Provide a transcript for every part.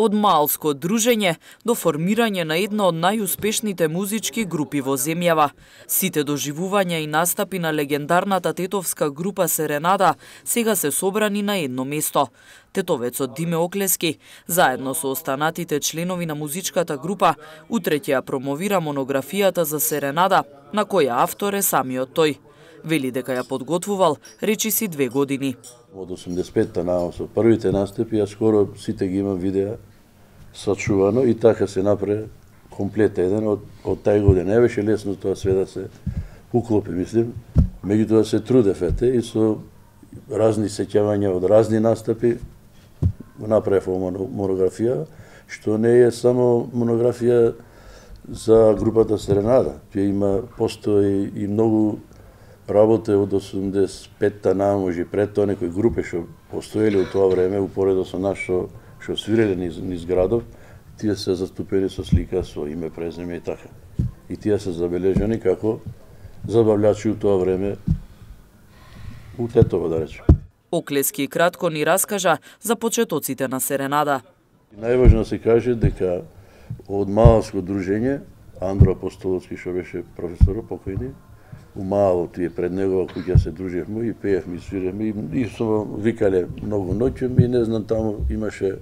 Од малско дружење до формирање на една од најуспешните музички групи во земјава. Сите доживувања и настапи на легендарната тетовска група Серенада сега се собрани на едно место. Тетовецот Диме Оклески, заедно со останатите членови на музичката група, утре ќе ја промовира монографијата за Серенада, на која автор е самиот тој. Вели дека ја подготвувал речиси 2 години. Од 85-та наам со првите настапи, ја скоро сите ги имам видеа сачувано и така се направи комплет еден од тај година. Не беше лесно тоа све да се уклопи, мислим. Меѓутоа се трудев и со разни сеќавања од разни настапи направив монографија, што не е само монографија за групата Серенада. Тие има постои и многу работа од 85-та на може пред тоа некои групи што постоеле во тоа време упоредо со нас што свиреле низ градов, тие се заступени со слика, со име, презиме и така. И тие се забележани како забавлячи у тоа време у Тетово, да речем. Оклески кратко ни раскажа за почетоците на Серенада. Најважно се каже дека од малско дружење, Андро Апостоловски, што беше професор покојни, у мало тие пред негова куќа се дружевме и пеевме и свиревме и со викале многу ноќем и не знам, таму имаше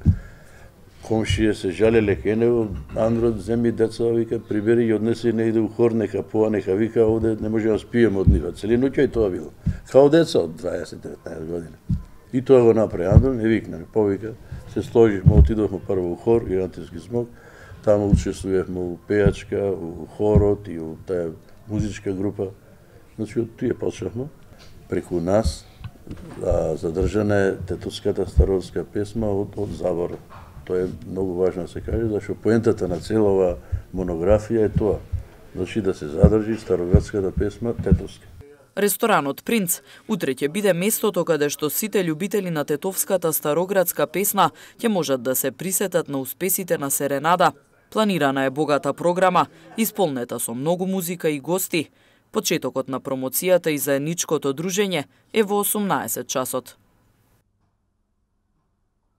комшија се жалеле кај него, Андро земи деца, вика, прибери и однеси негде у хор, нека поа, нека вика, овде не може да спиеме од нива. Цели ноќ и тоа било. Као деца од 20-19 години. И тоа го направи Андро, не викна, повика, се сложивме, отидовме прво у хор, Ирантиски смок, таму учествувавме у пејачка, у хорот и у таа музичка група. Значи, од тие почнавме. Преку нас задржана е тетовската старорска песма од Забора. Тоа е многу важно да се каже, зашто поентата на целова монографија е тоа. Значи да се задржи староградската песма тетовска. Ресторанот Принц утре ќе биде местото каде што сите љубители на тетовската староградска песна ќе можат да се присетат на успесите на Серенада. Планирана е богата програма, исполнета со многу музика и гости. Почетокот на промоцијата и заедничкото дружење е во 18 часот.